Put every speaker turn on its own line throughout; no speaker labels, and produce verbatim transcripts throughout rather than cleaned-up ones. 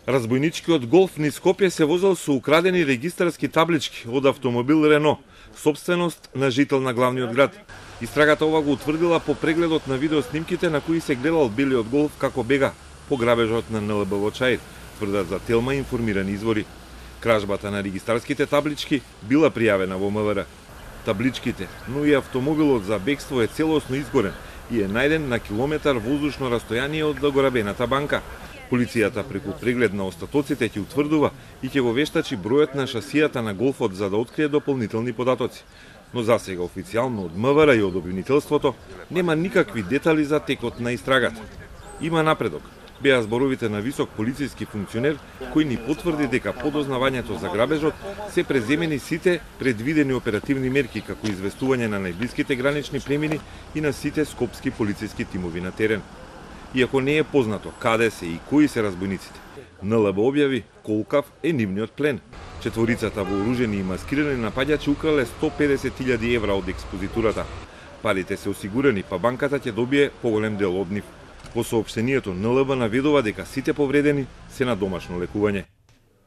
Разбойничкиот голф низ Скопје се возел со украдени регистарски таблички од автомобил Рено, собственост на жител на главниот град. Истрагата ова го утврдила по прегледот на видеоснимките на кои се гледал белиот голф како бега по грабежот на Н Л Б во Чаир, тврдат за Телма информирани извори. Кражбата на регистарските таблички била пријавена во М В Р. Табличките, но и автомобилот за бегство е целосно изгорен и е најден на километар воздушно растојание од догорабената банка. Полицијата преку преглед на остатоците ќе утврдува и ќе го вештачи бројот на шасијата на голфот за да открие дополнителни податоци. Но засега официјално од М В Р и од обвинителството нема никакви детали за текот на истрагата. Има напредок. Беа зборовите на висок полициски функционер кој ни потврди дека по дознавањето за грабежот се преземени сите предвидени оперативни мерки како известување на најблиските гранични премини и на сите скопски полициски тимови на терен. Иако не е познато каде се и кои се разбойниците, Н Л Б објави колкав е нивниот плен. Четворицата вооружени и маскирани напаѓачи украле сто педесет илјади евра од експозитурата. Парите се осигурени, па банката ќе добие поголем дел од нив. Во соопштението Н Л Б наведува дека сите повредени се на домашно лекување.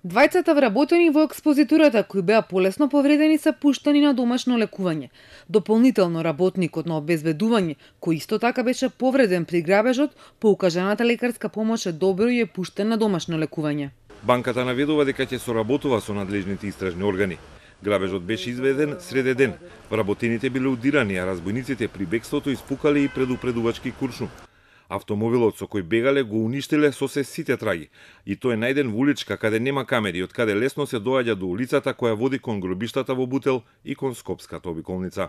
Двајцата вработени во експозитурата кои беа полесно повредени се пуштени на домашно лекување. Дополнително работникот на обезбедување, кој исто така беше повреден при грабежот, по укажаната лекарска помош е добро и е пуштен на домашно лекување.
Банката наведува дека ќе соработува со надлежните истражни органи. Грабежот беше изведен среде ден. Вработените биле удирани, а разбойниците при бегството испукале и предупредувачки куршум. Автомобилот со кој бегале го уништиле со се сите траги. И тој е најден во уличка каде нема камери, од каде лесно се доаѓа до улицата која води кон гробиштата во Бутел и кон Скопската обиколница.